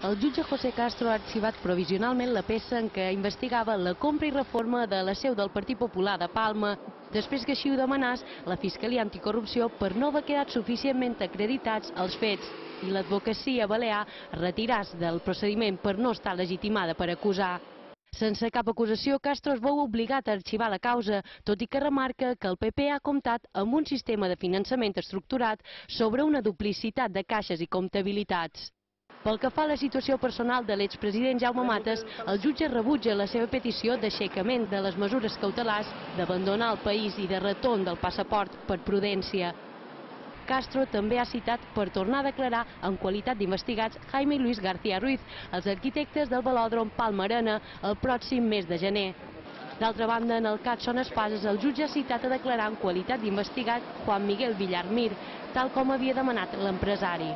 El jutge José Castro ha arxivat provisionalment la peça en què investigava la compra i reforma de la seu del Partit Popular de Palma, després que així ho demanés la Fiscalia Anticorrupció per no haver quedat suficientment acreditats els fets i l'advocacia balear retiràs del procediment per no estar legitimada per acusar. Sense cap acusació, Castro es veu obligat a arxivar la causa, tot i que remarca que el PP ha comptat amb un sistema de finançament estructurat sobre una duplicitat de caixes i comptabilitats. Pel que fa a la situació personal de l'expresident Jaume Matas, el jutge rebutja la seva petició d'aixecament de les mesures cautelars, d'abandonar el país i de retorn del passaport per prudència. Castro també ha citat per tornar a declarar en qualitat d'investigats Jaime i Luis García Ruiz, els arquitectes del velòdrom Palma Arena, el pròxim mes de gener. D'altra banda, en el cas Son Espases, el jutge ha citat a declarar en qualitat d'investigat Juan Miguel Villar Mir, tal com havia demanat l'empresari.